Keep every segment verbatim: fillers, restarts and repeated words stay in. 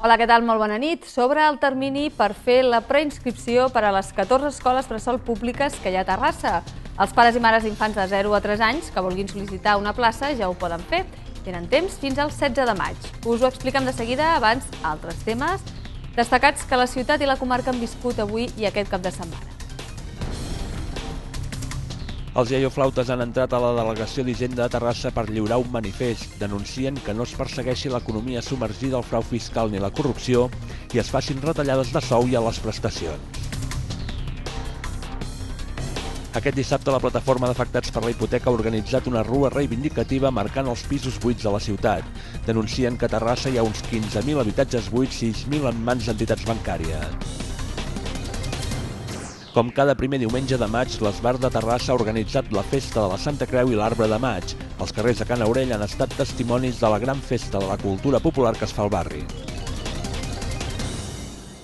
Hola, què tal? Molt bona nit. Sobre el termini per fer la preinscripció per a les catorze escoles bressol públiques que hi ha a Terrassa. Els pares i mares d'infants de zero a tres anys que vulguin sol·licitar una plaça ja ho poden fer. Tenen temps fins al setze de maig. Us ho expliquem de seguida, abans altres temes destacats que la ciutat i la comarca han viscut avui i aquest cap de setmana. Els iaioflautes han entrat a la delegació d'Hisenda de Terrassa per lliurar un manifest. Denuncien que no es persegueixi l'economia submergida al frau fiscal ni la corrupció i es facin retallades de sou i a les prestacions. Aquest dissabte la plataforma d'afectats per la hipoteca ha organitzat una rua reivindicativa marcant els pisos buits de la ciutat. Denuncien que a Terrassa hi ha uns quinze mil habitatges buits, sis mil en mans d'entitats bancàries. Com cada primer diumenge de maig, l'Esbar de Terrassa ha organitzat la Festa de la Santa Creu i l'Arbre de Maig. Els carrers de Can Aurell han estat testimonis de la gran festa de la cultura popular que es fa al barri.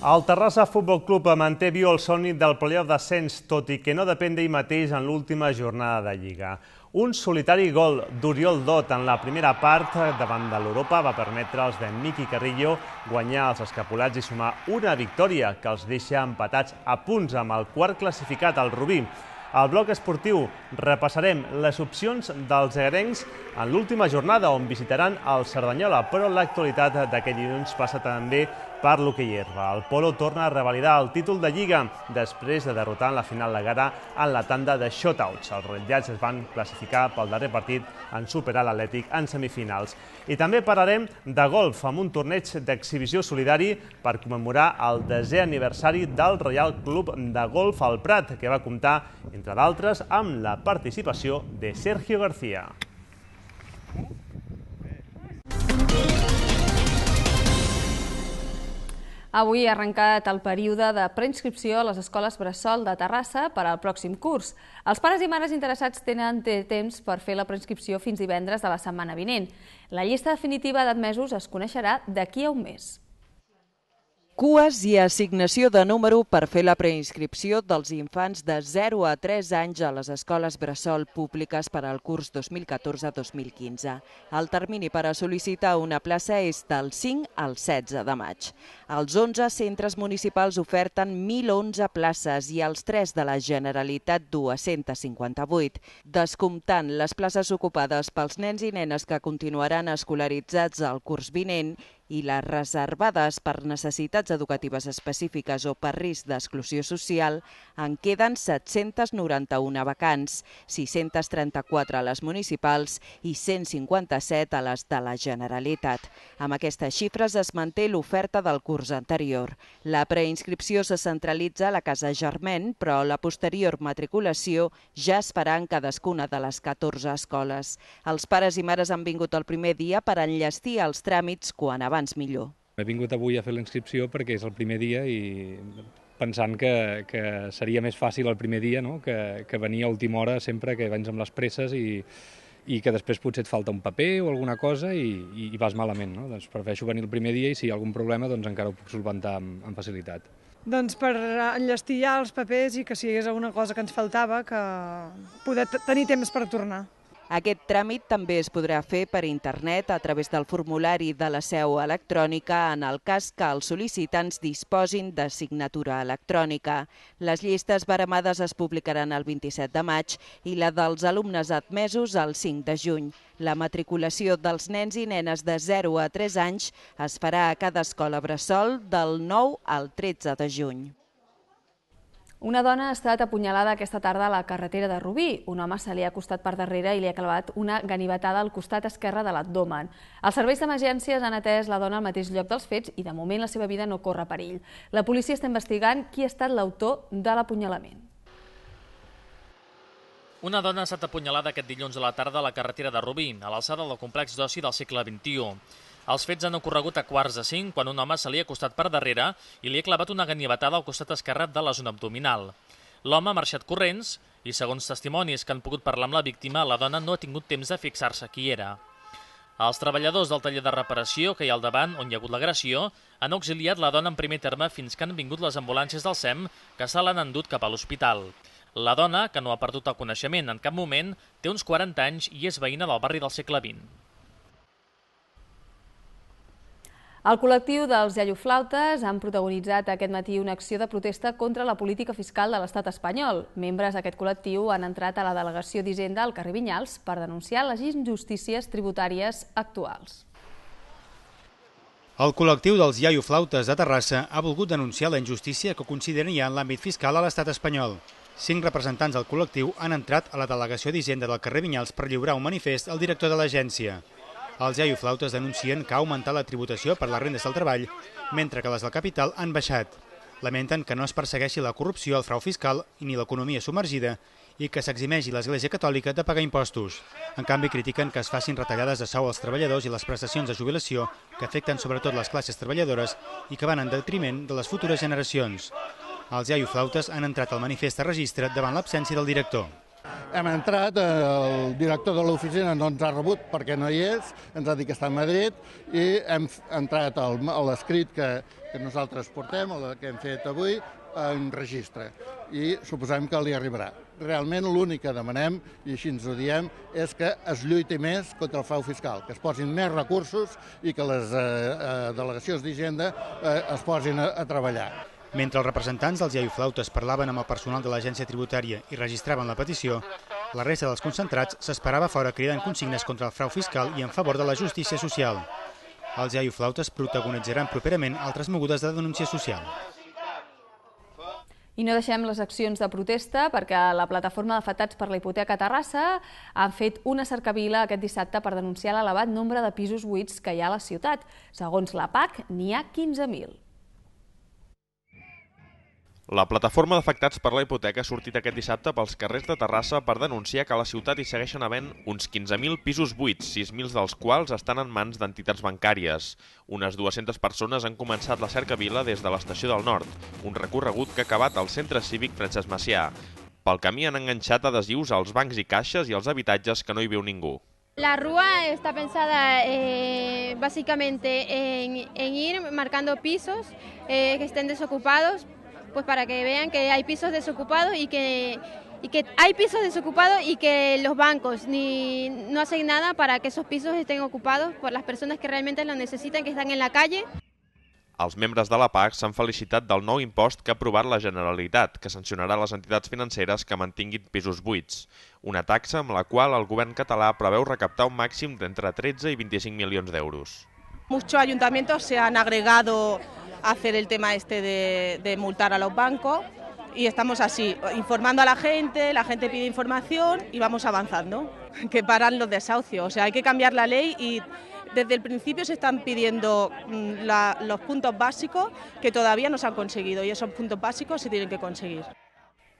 El Terrassa Futbol Club manté viu el somni del playoff d'ascens, tot i que no depèn d'ell mateix en l'última jornada de Lliga. Un solitari gol d'Oriol Dot en la primera part davant de l'Europa va permetre als de Miqui Carrillo guanyar els escapulats i sumar una victòria que els deixa empatats a punts amb el quart classificat, el Rubí. Al bloc esportiu repassarem les opcions dels egarencs en l'última jornada on visitaran el Cerdanyola, però l'actualitat d'aquest dilluns passa també per l'hoquei herba. El Polo torna a revalidar el títol de Lliga després de derrotar en la final la Gara en la tanda de shotouts. Els ratllats es van classificar pel darrer partit en superar l'Atlètic en semifinals. I també parlarem de golf amb un torneig d'exhibició solidari per commemorar el desè aniversari del Reial Club de Golf al Prat, que va comptar, entre d'altres, amb la participació de Sergio García. Avui ha arrencat el període de preinscripció a les escoles bressol de Terrassa per al pròxim curs. Els pares i mares interessats tenen temps per fer la preinscripció fins divendres de la setmana vinent. La llista definitiva d'admesos es coneixerà d'aquí a un mes. Cues i assignació de número per fer la preinscripció dels infants de zero a tres anys a les escoles bressol públiques per al curs dos mil catorze dos mil quinze. El termini per a sol·licitar una plaça és del cinc al setze de maig. Els onze centres municipals oferten mil onze places i els tres de la Generalitat dues-centes cinquanta-vuit, descomptant les places ocupades pels nens i nenes que continuaran escolaritzats el curs vinent i les reservades per necessitats educatives específiques o per risc d'exclusió social, en queden set-centes noranta-una vacants, sis-centes trenta-quatre a les municipals i cent cinquanta-set a les de la Generalitat. Amb aquestes xifres es manté l'oferta del curs anterior. La preinscripció se centralitza a la Casa Germain, però la posterior matriculació ja es farà en cadascuna de les catorze escoles. Els pares i mares han vingut el primer dia per enllestir els tràmits quan abans millor. He vingut avui a fer la inscripció perquè és el primer dia i pensant que, que seria més fàcil el primer dia, no? que, que venir a última hora sempre, que vens amb les presses i, i que després potser et falta un paper o alguna cosa i, i vas malament. No? Doncs prefereixo venir el primer dia i si hi ha algun problema doncs encara ho puc solventar amb, amb facilitat. Doncs per enllestir ja els papers i que si hi hagués alguna cosa que ens faltava, que poder tenir temps per tornar. Aquest tràmit també es podrà fer per internet a través del formulari de la seu electrònica en el cas que els sol·licitants disposin de signatura electrònica. Les llistes baremades es publicaran el vint-i-set de maig i la dels alumnes admesos el cinc de juny. La matriculació dels nens i nenes de zero a tres anys es farà a cada escola bressol del nou al tretze de juny. Una dona ha estat apunyalada aquesta tarda a la carretera de Rubí. Un home se li ha acostat per darrere i li ha clavat una ganivetada al costat esquerre de l'abdomen. Els serveis d'emergències han atès la dona al mateix lloc dels fets i de moment la seva vida no corre perill. La policia està investigant qui ha estat l'autor de l'apunyalament. Una dona ha estat apunyalada aquest dilluns a la tarda a la carretera de Rubí, a l'alçada del complex d'oci del segle vint-i-u. Els fets han ocorregut a quarts de cinc quan un home se li ha acostat per darrere i li ha clavat una ganivetada al costat esquerre de la zona abdominal. L'home ha marxat corrents i, segons testimonis que han pogut parlar amb la víctima, la dona no ha tingut temps de fixar-se qui era. Els treballadors del taller de reparació que hi ha al davant, on hi ha hagut l'agressió, han auxiliat la dona en primer terme fins que han vingut les ambulàncies del S E M que se l'han endut cap a l'hospital. La dona, que no ha perdut el coneixement en cap moment, té uns quaranta anys i és veïna del barri del segle vint. El col·lectiu dels iaioflautes han protagonitzat aquest matí una acció de protesta contra la política fiscal de l'estat espanyol. Membres d'aquest col·lectiu han entrat a la delegació d'Hisenda al carrer Vinyals per denunciar les injustícies tributàries actuals. El col·lectiu dels iaioflautes de Terrassa ha volgut denunciar la injustícia que consideren hi ha en l'àmbit fiscal a l'estat espanyol. Cinc representants del col·lectiu han entrat a la delegació d'Hisenda del carrer Vinyals per lliurar un manifest al director de l'agència. Els iaioflautes denuncien que ha augmentat la tributació per les rendes del treball, mentre que les del capital han baixat. Lamenten que no es persegueixi la corrupció, el frau fiscal ni l'economia submergida i que s'eximeixi l'Església Catòlica de pagar impostos. En canvi, critiquen que es facin retallades de sou als treballadors i les prestacions de jubilació que afecten sobretot les classes treballadores i que van en detriment de les futures generacions. Els iaioflautes han entrat al manifest a registre davant l'absència del director. Hem entrat, el director de l'oficina no ens ha rebut perquè no hi és, ens ha dit que està a Madrid i hem entrat a l'escrit que, que nosaltres portem, el que hem fet avui, en registre i suposem que li arribarà. Realment l'únic que demanem, i així ens ho diem, és que es lluiti més contra el frau fiscal, que es posin més recursos i que les eh, eh, delegacions d'Hisenda eh, es posin a, a treballar. Mentre els representants dels iaioflautes parlaven amb el personal de l'agència tributària i registraven la petició, la resta dels concentrats s'esperava fora cridant consignes contra el frau fiscal i en favor de la justícia social. Els iaioflautes protagonitzaran properament altres mogudes de denúncia social. I no deixem les accions de protesta perquè la plataforma d'afectats per la hipoteca a Terrassa han fet una cercavila aquest dissabte per denunciar l'elevat nombre de pisos buits que hi ha a la ciutat. Segons la P A C, n'hi ha quinze mil. La plataforma d'afectats per la hipoteca ha sortit aquest dissabte pels carrers de Terrassa per denunciar que a la ciutat hi segueixen havent uns quinze mil pisos buits, sis mil dels quals estan en mans d'entitats bancàries. Unes dues-centes persones han començat la cercavila des de l'Estació del Nord, un recorregut que ha acabat al Centre Cívic Francesc Macià. Pel camí han enganxat adhesius als bancs i caixes i als habitatges que no hi viu ningú. La rúa está pensada eh, básicamente en, en ir marcando pisos eh, que estén desocupados, pues para que vean que hay pisos desocupados y que, y que hay pisos desocupados y que los bancos ni, no hacen nada para que esos pisos estén ocupados por las personas que realmente lo necesitan, que están en la calle. Els membres de la P A C s'han felicitat del nou impost que ha aprovat la Generalitat, que sancionarà les entitats financeres que mantinguin pisos buits. Una taxa amb la qual el govern català preveu recaptar un màxim d'entre tretze i vint-i-cinc milions d'euros. Muchos ayuntamientos se han agregado a hacer el tema este de, de multar a los bancos y estamos así, informando a la gente, la gente pide información y vamos avanzando, que paran los desahucios. O sea, hay que cambiar la ley y desde el principio se están pidiendo la, los puntos básicos que todavía no se han conseguido y esos puntos básicos se tienen que conseguir.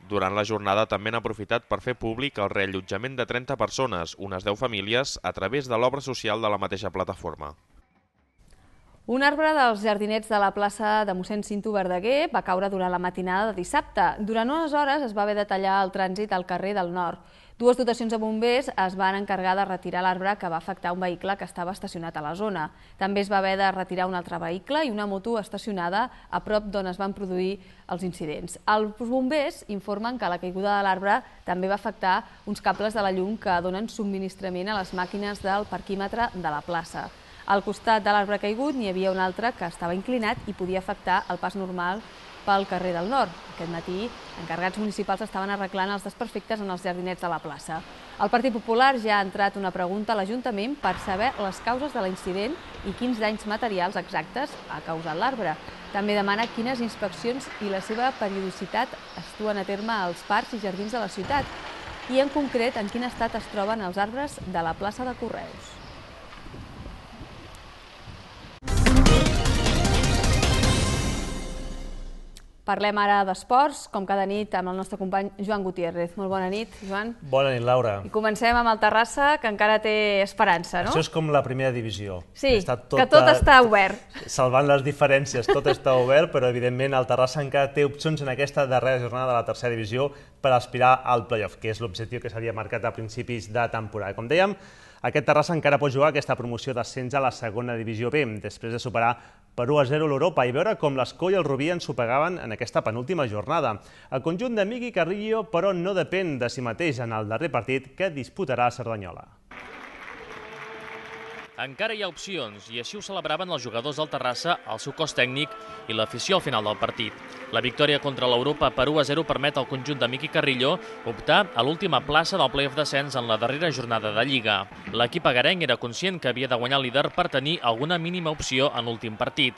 Durant la jornada també han aprofitat per fer públic el reallotjament de trenta persones, unes deu famílies, a través de l'obra social de la mateixa plataforma. Un arbre dels jardinets de la plaça de mossèn Cinto Verdaguer va caure durant la matinada de dissabte. Durant unes hores es va haver de tallar el trànsit al carrer del Nord. Dues dotacions de bombers es van encarregar de retirar l'arbre que va afectar un vehicle que estava estacionat a la zona. També es va haver de retirar un altre vehicle i una moto estacionada a prop d'on es van produir els incidents. Els bombers informen que la caiguda de l'arbre també va afectar uns cables de la llum que donen subministrament a les màquines del parquímetre de la plaça. Al costat de l'arbre caigut n'hi havia un altre que estava inclinat i podia afectar el pas normal pel carrer del Nord. Aquest matí, encarregats municipals estaven arreglant els desperfectes en els jardinets de la plaça. El Partit Popular ja ha entrat una pregunta a l'Ajuntament per saber les causes de l'incident i quins danys materials exactes ha causat l'arbre. També demana quines inspeccions i la seva periodicitat es duen a terme als parcs i jardins de la ciutat i, en concret, en quin estat es troben els arbres de la plaça de Correus. Parlem ara d'esports, com cada nit, amb el nostre company Joan Gutiérrez. Molt bona nit, Joan. Bona nit, Laura. I comencem amb el Terrassa, que encara té esperança, no? Això és com la primera divisió. Sí, que tot està obert. Salvant les diferències, tot està obert, però evidentment el Terrassa encara té opcions en aquesta darrera jornada de la tercera divisió per aspirar al play-off, que és l'objectiu que s'havia marcat a principis de temporada. Com dèiem, aquest Terrassa encara pot jugar aquesta promoció d'ascens a la segona divisió B, després de superar per u a zero l'Europa i veure com l'Escó i el Rubí ensopegaven en aquesta penúltima jornada. El conjunt de Miqui Carrillo, però, no depèn de si mateix en el darrer partit que disputarà a Cerdanyola. Encara hi ha opcions i així ho celebraven els jugadors del Terrassa, el seu cos tècnic i l'afició al final del partit. La victòria contra l'Europa per u a zero permet al conjunt de Miqui Carrillo optar a l'última plaça del play-off descens en la darrera jornada de Lliga. L'equip agarenc era conscient que havia de guanyar el líder per tenir alguna mínima opció en l'últim partit.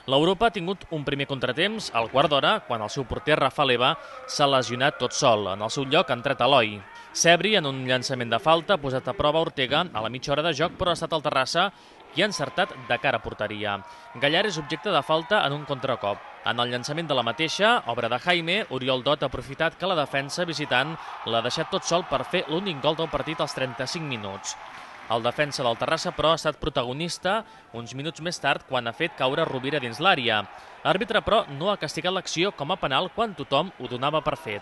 L'Europa ha tingut un primer contratemps al quart d'hora, quan el seu porter Rafa Leva s'ha lesionat tot sol. En el seu lloc ha entrat Eloi. Sebri, en un llançament de falta, ha posat a prova Ortega a la mitja hora de joc, però ha estat el Terrassa qui ha encertat de cara a porteria. Gallar és objecte de falta en un contracop. En el llançament de la mateixa, obra de Jaime, Oriol Dot ha aprofitat que la defensa visitant l'ha deixat tot sol per fer l'únic gol del partit als trenta-cinc minuts. El defensa del Terrassa, però, ha estat protagonista uns minuts més tard quan ha fet caure Rovira dins l'àrea. L'àrbitre, però, no ha castigat l'acció com a penal quan tothom ho donava per fet.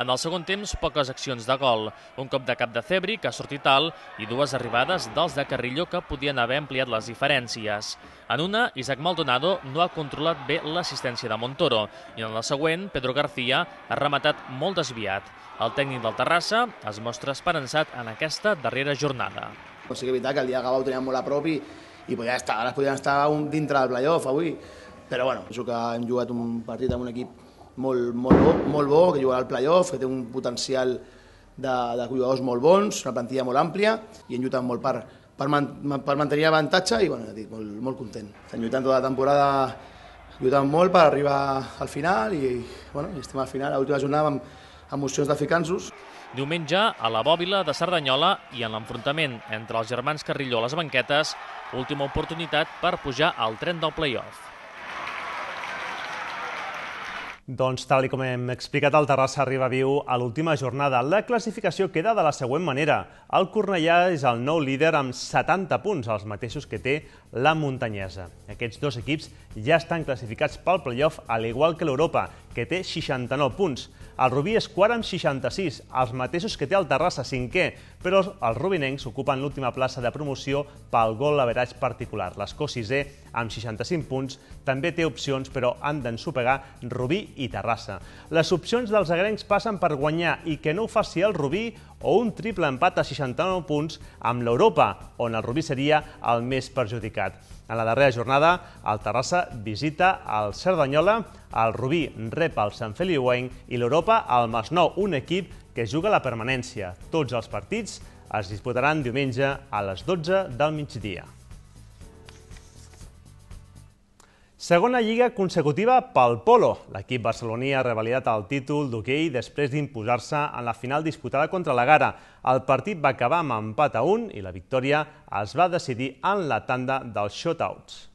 En el segon temps, poques accions de gol. Un cop de cap de Cebri, que ha sortit alt, i dues arribades dels de Carrillo que podien haver ampliat les diferències. En una, Isaac Maldonado no ha controlat bé l'assistència de Montoro, i en la següent, Pedro García ha rematat molt desviat. El tècnic del Terrassa es mostra esperançat en aquesta darrera jornada. Sí que és veritat que el dia de Gavà ho teníem molt a prop i, i podia estar, ara podien estar un, dintre del playoff avui, però bueno, penso que hem jugat un partit amb un equip molt, molt, bo, molt bo, que jugarà al playoff, que té un potencial de, de jugadors molt bons, una plantilla molt àmplia i hem lluitat molt per, per, man, per mantenir avantatge i bueno, dic, molt, molt content. Estem lluitant tota la temporada, lluitant molt per arribar al final i bueno, estem al final, a l'última jornada amb, amb opcions de ficar-nos. Diumenge, a la Bòbila de Cerdanyola i en l'enfrontament entre els germans Carrillo a les banquetes, última oportunitat per pujar al tren del play-off. Doncs, tal com hem explicat, el Terrassa arriba viu a l'última jornada. La classificació queda de la següent manera. El Cornellà és el nou líder amb setanta punts, els mateixos que té la Muntanyesa. Aquests dos equips ja estan classificats pel play-off, al igual que l'Europa, que té seixanta-nou punts. El Rubí és quart amb seixanta-sis, els mateixos que té el Terrassa, cinquè, però els rubinencs ocupen l'última plaça de promoció pel gol average particular. L'Escó sisè, amb seixanta-cinc punts, també té opcions, però han d'ensopegar Rubí i Terrassa. Les opcions dels agrencs passen per guanyar i que no ho faci el Rubí o un triple empat a seixanta-nou punts amb l'Europa, on el Rubí seria el més perjudicat. En la darrera jornada, el Terrassa visita el Cerdanyola, el Rubí rep el Sant Feliuenc i l'Europa el Masnou, un equip que juga la permanència. Tots els partits es disputaran diumenge a les dotze del migdia. Segona lliga consecutiva pel polo. L'equip barceloní ha revalidat el títol d'hoquei després d'imposar-se en la final disputada contra la Gara. El partit va acabar amb empat a un i la victòria es va decidir en la tanda dels shotouts.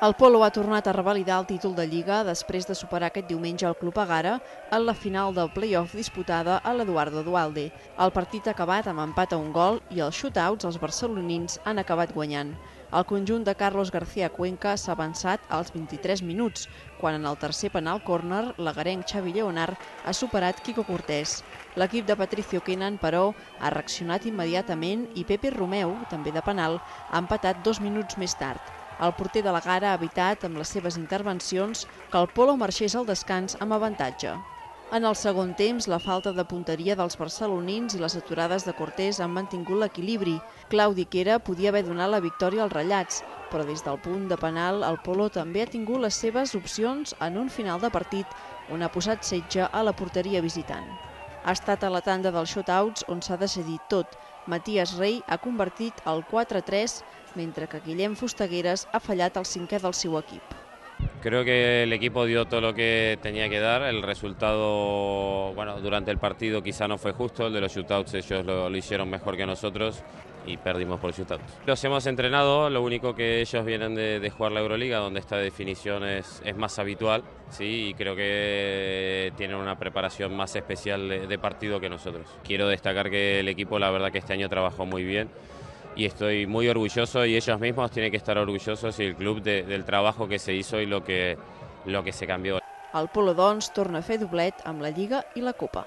El polo ha tornat a revalidar el títol de Lliga després de superar aquest diumenge el Club Agara en la final del play-off disputada a l'Eduardo Duhalde. El partit ha acabat amb empat a un gol i els shotouts els barcelonins han acabat guanyant. El conjunt de Carlos García Cuenca s'ha avançat als vint-i-tres minuts, quan en el tercer penal córner l'agarenc Xavi Lleonard ha superat Quico Cortés. L'equip de Patricio Kenan, però, ha reaccionat immediatament i Pepe Romeu, també de penal, ha empatat dos minuts més tard. El porter de la Gara ha evitat, amb les seves intervencions, que el polo marxés al descans amb avantatge. En el segon temps, la falta de punteria dels barcelonins i les aturades de Cortés han mantingut l'equilibri. Claudi Quera podia haver donat la victòria als ratllats, però des del punt de penal el polo també ha tingut les seves opcions en un final de partit on ha posat setge a la porteria visitant. Ha estat a la tanda dels shotouts on s'ha decidit tot. Matías Rey ha convertit el quatre a tres, mentre que Guillem Fustagueres ha fallat el cinquè del seu equip. Creo que el equipo dio todo lo que tenía que dar. El resultado, bueno, durante el partido quizá no fue justo. El de los shootouts ellos lo, lo hicieron mejor que nosotros y perdimos por shootouts. Los hemos entrenado, lo único que ellos vienen de, de jugar la Euroliga, donde esta definición es, es más habitual, sí, y creo que tienen una preparación más especial de, de partido que nosotros. Quiero destacar que el equipo, la verdad que este año trabajó muy bien. Y estoy muy orgulloso y ellos mismos tienen que estar orgullosos y el club de, del trabajo que se hizo y lo que, lo que se cambió. El polo, doncs, torna a fer doblet amb la Lliga i la Copa.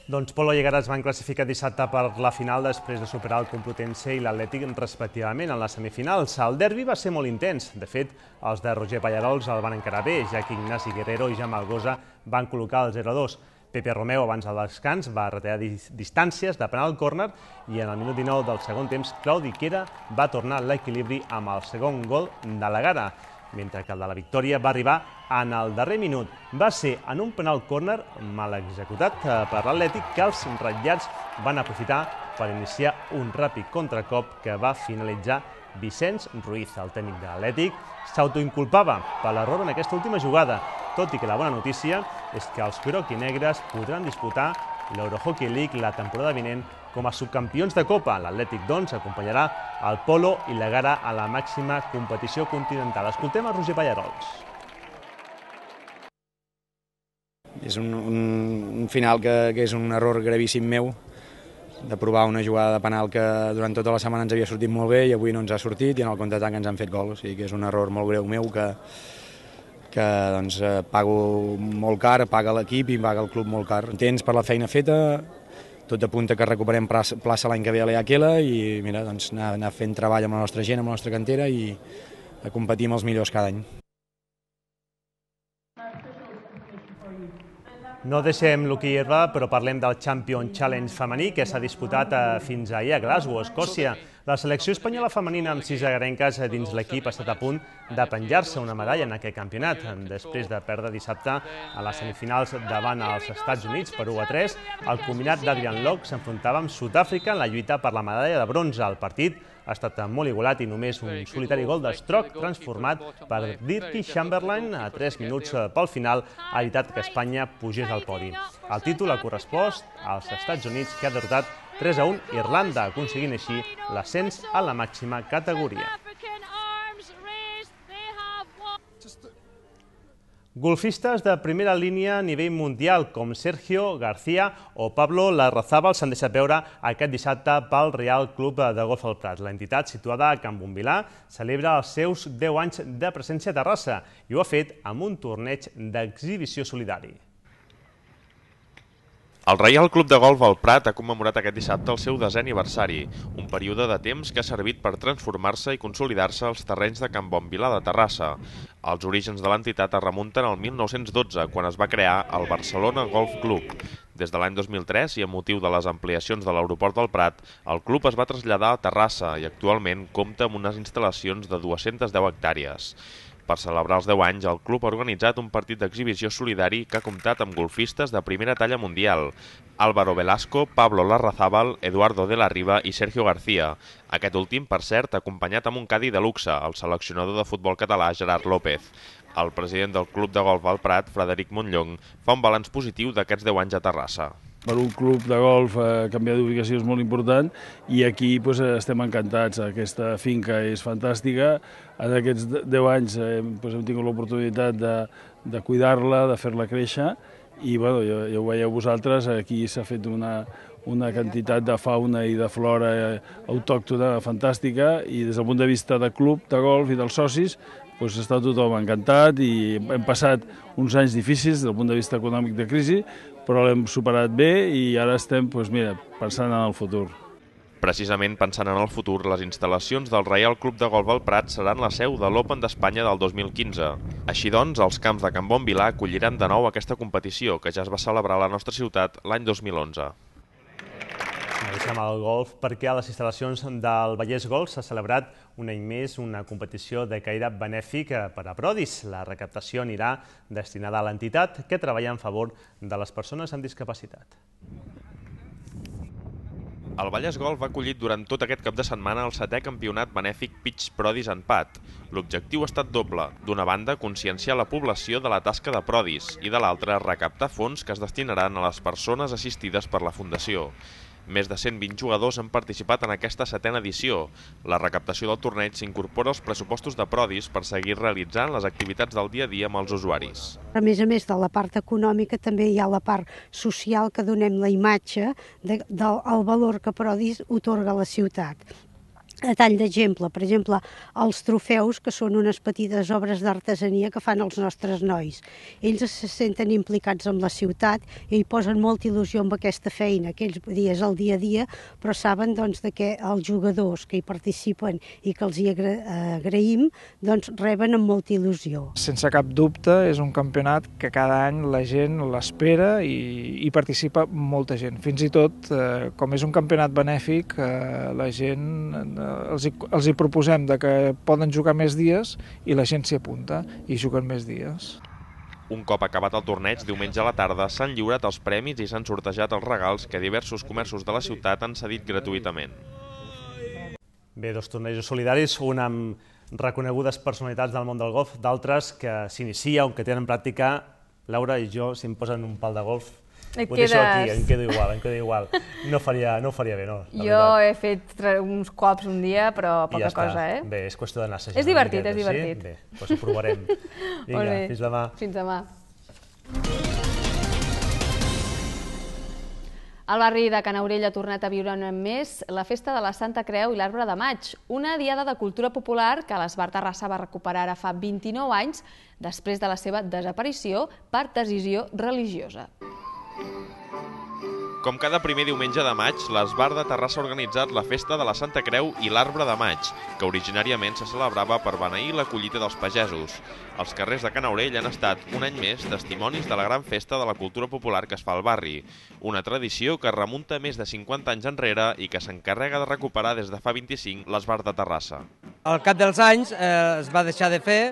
Doncs Polo i Egara es van classificar dissabte per la final després de superar el Complutense i l'Atlètic respectivament en les semifinals. El derbi va ser molt intens. De fet, els de Roger Pallarols el van encarar bé, ja que Ignasi Guerrero i Jaume Algosa van col·locar el zero a dos. Pepe Romeu, abans del descans, va retallar distàncies de penal córner i en el minut dinou del segon temps, Claudi Quera va tornar l'equilibri amb el segon gol de la Gara, mentre que el de la victòria va arribar en el darrer minut. Va ser en un penal córner mal executat per l'Atlètic que els ratllats van aprofitar per iniciar un ràpid contracop que va finalitzar Vicenç Ruiz. El tècnic de l'Atlètic s'autoinculpava per l'error en aquesta última jugada, tot i que la bona notícia és que els groc-i-negres podran disputar l'Eurohockey League la temporada vinent com a subcampions de Copa. L'Atlètic, doncs, acompanyarà el Polo i la Gara a la màxima competició continental. Escoltem a Roger Pallarols. És un, un, un final que, que és un error gravíssim meu, de provar una jugada de penal que durant tota la setmana ens havia sortit molt bé i avui no ens ha sortit i en el contraatac ens han fet gol. O sigui que és un error molt greu meu que, que doncs, pago molt car, paga l'equip i paga el club molt car. Contents per la feina feta, tot apunta que recuperem plaça l'any que ve a l'E A Q L i mira, doncs, anar, anar fent treball amb la nostra gent, amb la nostra cantera i a competir amb els millors cada any. No deixem l'hoquei herba, però parlem del Champion Challenge femení que s'ha disputat fins ahir a Glasgow, Escòcia. La selecció espanyola femenina amb sis agarenques dins l'equip ha estat a punt de penjar-se una medalla en aquest campionat. Després de perdre dissabte a les semifinals davant els Estats Units per u a tres, el combinat d'Adrian Locke s'enfrontava amb Sud-àfrica en la lluita per la medalla de bronze. El partit ha estat molt igualat i només un solitari gol d'Strock transformat per Dirkie Chamberlain a tres minuts pel final ha evitat que Espanya pugés al podi. El títol ha correspost als Estats Units, que ha derrotat tres a un Irlanda, aconseguint així l'ascens a la màxima categoria. Golfistes de primera línia a nivell mundial com Sergio García o Pablo Larrazábal s'han deixat veure aquest dissabte pel Real Club de Golf El Prat. L'entitat, situada a Can Bombilà, celebra els seus deu anys de presència a Terrassa i ho ha fet amb un torneig d'exhibició solidari. El Reial Club de Golf El Prat ha commemorat aquest dissabte el seu desè aniversari, un període de temps que ha servit per transformar-se i consolidar-se als terrenys de Can Bombilà de Terrassa. Els orígens de l'entitat es remunten al mil nou-cents dotze, quan es va crear el Barcelona Golf Club. Des de l'any dos mil tres, i amb motiu de les ampliacions de l'aeroport del Prat, el club es va traslladar a Terrassa i actualment compta amb unes instal·lacions de dues-centes deu hectàrees. Per celebrar els deu anys, el club ha organitzat un partit d'exhibició solidari que ha comptat amb golfistes de primera talla mundial: Álvaro Velasco, Pablo Larrazábal, Eduardo de la Riva i Sergio García. Aquest últim, per cert, acompanyat amb un cadi de luxe, el seleccionador de futbol català Gerard López. El president del Club de Golf El Prat, Frederic Montllong, fa un balanç positiu d'aquests deu anys a Terrassa. Per un club de golf eh, canviar d'ubicació és molt important i aquí pues, estem encantats. Aquesta finca és fantàstica. En aquests deu anys eh, pues, hem tingut l'oportunitat de, de cuidar-la, de fer-la créixer i bueno, ja, ja ho veieu vosaltres, aquí s'ha fet una, una quantitat de fauna i de flora eh, autòctona fantàstica i des del punt de vista del club de golf i dels socis pues, està tothom encantat i hem passat uns anys difícils des del punt de vista econòmic de crisi, però l'hem superat bé i ara estem pues, mira, pensant en el futur. Precisament pensant en el futur, les instal·lacions del Reial Club de Golf El Prat seran la seu de l'Open d'Espanya del dos mil quinze. Així doncs, els camps de Can Bombilà acolliran de nou aquesta competició, que ja es va celebrar a la nostra ciutat l'any dos mil onze. Deixem el golf perquè a les instal·lacions del Vallès Golf s'ha celebrat un any més una competició de caire benèfic per a Prodis. La recaptació anirà destinada a l'entitat que treballa en favor de les persones amb discapacitat. El Vallès Golf ha acollit durant tot aquest cap de setmana el setè campionat benèfic Pitch Prodis en Pat. L'objectiu ha estat doble. D'una banda, conscienciar la població de la tasca de Prodis i de l'altra, recaptar fons que es destinaran a les persones assistides per la Fundació. Més de cent vint jugadors han participat en aquesta setena edició. La recaptació del torneig s'incorpora als pressupostos de Prodis per seguir realitzant les activitats del dia a dia amb els usuaris. A més a més de la part econòmica, també hi ha la part social que donem la imatge del valor que Prodis otorga a la ciutat. a tall d'exemple, per exemple, els trofeus, que són unes petites obres d'artesania que fan els nostres nois. Ells se senten implicats amb la ciutat i hi posen molta il·lusió amb aquesta feina, que ells és el dia a dia, però saben doncs, que els jugadors que hi participen i que els hi agraïm, doncs reben amb molta il·lusió. Sense cap dubte és un campionat que cada any la gent l'espera i hi participa molta gent. Fins i tot, eh, com és un campionat benèfic, eh, la gent... Eh, Els hi, els hi proposem de que poden jugar més dies i la gent s'hi apunta i juguen més dies. Un cop acabat el torneig, diumenge a la tarda, s'han lliurat els premis i s'han sortejat els regals que diversos comerços de la ciutat han cedit gratuïtament. Bé, dos tornejos solidaris, un amb reconegudes personalitats del món del golf, d'altres que s'inicia o que tenen pràctica. Laura i jo, si em posen un pal de golf, Et ho deixo aquí, quedes- em quedo igual, em quedo igual. No faria, no ho faria bé, no? la Jo veritat. he fet tre- uns cops un dia, però I poca ja està. cosa, eh? Bé, és qüestió d'anar assajant. És una divertit, miqueta, és divertit. Sí? Bé, doncs ho provarem. Vinga, Molt bé. fins demà. Fins demà. El barri de Canaurell ha tornat a viure un any més la Festa de la Santa Creu i l'Arbre de Maig, una diada de cultura popular que l'Esbar Terrassa va recuperar ara fa vint-i-nou anys després de la seva desaparició per decisió religiosa. Com cada primer diumenge de maig, l'Esbar de Terrassa ha organitzat la Festa de la Santa Creu i l'Arbre de Maig, que originàriament se celebrava per beneir la collita dels pagesos. Els carrers de Canaurell han estat, un any més, testimonis de la gran festa de la cultura popular que es fa al barri. Una tradició que remunta més de cinquanta anys enrere i que s'encarrega de recuperar des de fa vint-i-cinc l'Esbar de Terrassa. Al cap dels anys eh, es va deixar de fer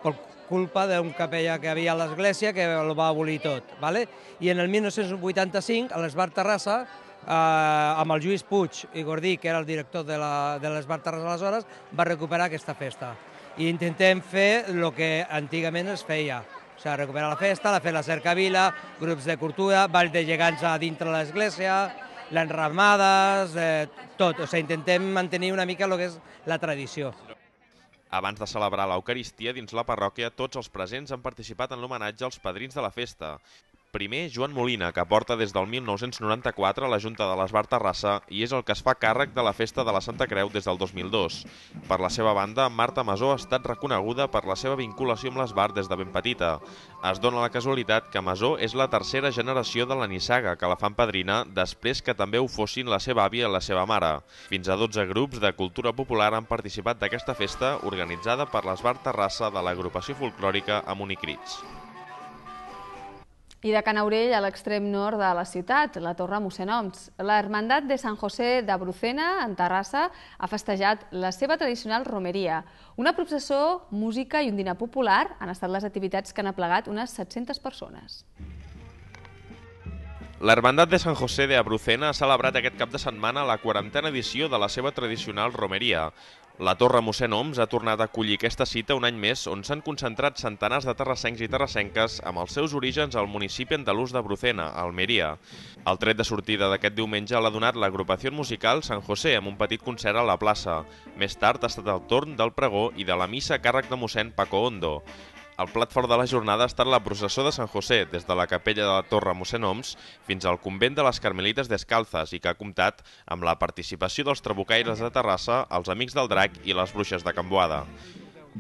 per culpa d'un capellà que havia a l'església que el va abolir tot. ¿vale? I en el mil nou-cents vuitanta-cinc, a l'Esbar Terrassa, eh, amb el Lluís Puig i Gordí, que era el director de l'Esbar Terrassa aleshores, va recuperar aquesta festa. I intentem fer el que antigament es feia. O sigui, recuperar la festa, la fer la cercavila, grups de cultura, ball de gegants a dintre l'església, les ramades, eh, tot. O sigui, intentem mantenir una mica el que és la tradició. Abans de celebrar l'Eucaristia dins la parròquia, tots els presents han participat en l'homenatge als padrins de la festa. Primer, Joan Molina, que porta des del mil nou-cents noranta-quatre a la Junta de l'Esbar Terrassa i és el que es fa càrrec de la Festa de la Santa Creu des del dos mil dos. Per la seva banda, Marta Masó ha estat reconeguda per la seva vinculació amb l'Esbar des de ben petita. Es dona la casualitat que Masó és la tercera generació de la nissaga que la fan padrina després que també ho fossin la seva àvia i la seva mare. Fins a dotze grups de cultura popular han participat d'aquesta festa organitzada per l'Esbar Terrassa de l'agrupació folclòrica Amunicrits. I de Canaurell, a l'extrem nord de la ciutat, la Torre Mossèn Oms. La Hermandat de Sant José de Brucena, en Terrassa, ha festejat la seva tradicional romeria. Una processó, música i un dinar popular han estat les activitats que han aplegat unes set-centes persones. La Hermandat de Sant José de Brucena ha celebrat aquest cap de setmana la quarantena edició de la seva tradicional romeria. La Torre Mossèn Oms ha tornat a acollir aquesta cita un any més on s'han concentrat centenars de terrassencs i terrassenques amb els seus orígens al municipi andalús de Brucena, a Almeria. El tret de sortida d'aquest diumenge l'ha donat l'agrupació musical Sant José amb un petit concert a la plaça. Més tard ha estat el torn del pregó i de la missa a càrrec de mossèn Paco Hondo. El plat fort de la jornada ha estat la processó de Sant José, des de la capella de la Torre Mossèn Oms fins al convent de les Carmelites Descalzes i que ha comptat amb la participació dels trabucaires de Terrassa, els Amics del Drac i les Bruixes de Can Boada.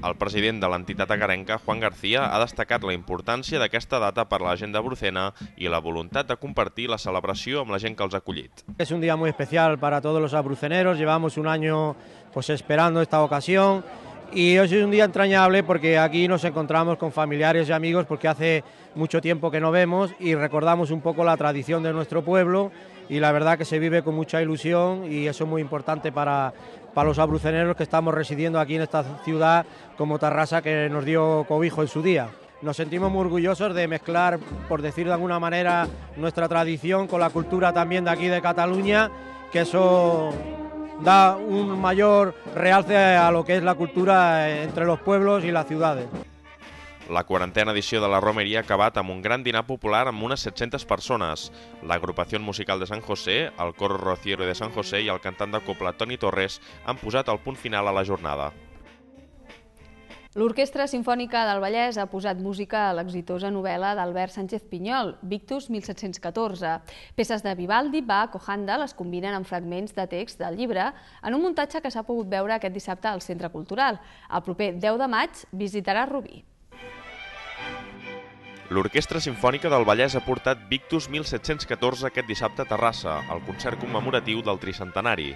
El president de l'entitat agarenca, Juan García, ha destacat la importància d'aquesta data per a la gent de Brucena i la voluntat de compartir la celebració amb la gent que els ha acollit. Es un día muy especial para todos los abruceneros, llevamos un año pues, esperando esta ocasión. Y hoy es un día entrañable porque aquí nos encontramos con familiares y amigos porque hace mucho tiempo que no vemos y recordamos un poco la tradición de nuestro pueblo y la verdad que se vive con mucha ilusión y eso es muy importante para, para los abruceneros que estamos residiendo aquí en esta ciudad como Terrassa que nos dio cobijo en su día. Nos sentimos muy orgullosos de mezclar, por decir de alguna manera, nuestra tradición con la cultura también de aquí de Cataluña, que eso da un mayor realce a lo que es la cultura entre los pueblos y las ciudades. La quarantena edició de la romeria ha acabat amb un gran dinar popular amb unes set-centes persones. L'agrupació musical de Sant José, el coro Rociero de Sant José i el cantant de copla Toni Torres han posat el punt final a la jornada. L'Orquestra Simfònica del Vallès ha posat música a l'exitosa novel·la d'Albert Sánchez Pinyol, Victus mil set-cents catorze. Peces de Vivaldi, Bach o Handel es combinen amb fragments de text del llibre en un muntatge que s'ha pogut veure aquest dissabte al Centre Cultural. El proper deu de maig visitarà Rubí. L'Orquestra Simfònica del Vallès ha portat Victus mil set-cents catorze aquest dissabte a Terrassa, al concert commemoratiu del tricentenari.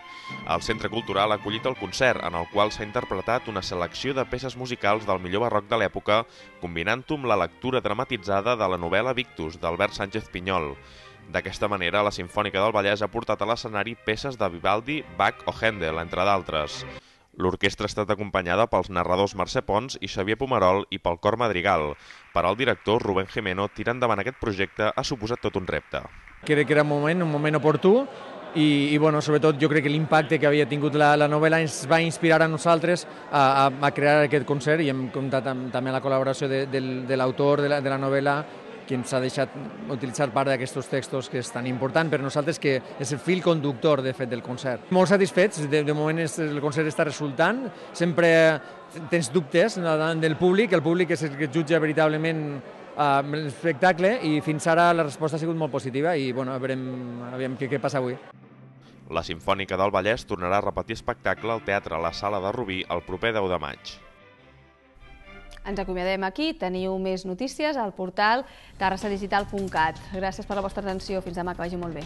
El Centre Cultural ha acollit el concert, en el qual s'ha interpretat una selecció de peces musicals del millor barroc de l'època, combinant-ho amb la lectura dramatitzada de la novel·la Victus, d'Albert Sánchez Pinyol. D'aquesta manera, la Simfònica del Vallès ha portat a l'escenari peces de Vivaldi, Bach o Handel, entre d'altres. L'orquestra ha estat acompanyada pels narradors Mercè Pons i Xavier Pomerol i pel cor Madrigal. Per al director, Rubén Jimeno, tirar endavant aquest projecte ha suposat tot un repte. Crec que era un moment, un moment oportú i, i bueno, sobretot jo crec que l'impacte que havia tingut la, la novel·la ens va inspirar a nosaltres a, a, a crear aquest concert i hem comptat amb, també la col·laboració de, de, de l'autor de, la, de la novel·la, que ens ha deixat utilitzar part d'aquests textos, que és tan important per nosaltres, que és el fil conductor, de fet, del concert. Molt satisfets, de, de moment el concert està resultant, sempre tens dubtes davant del públic, el públic és el que jutja veritablement uh, l'espectacle, i fins ara la resposta ha sigut molt positiva i bueno, veurem, veurem què, què passa avui. La Simfònica del Vallès tornarà a repetir espectacle al Teatre La Sala de Rubí el proper deu de maig. Ens acomiadem aquí. Teniu més notícies al portal terrassa digital punt cat. Gràcies per la vostra atenció. Fins demà, que vagi molt bé.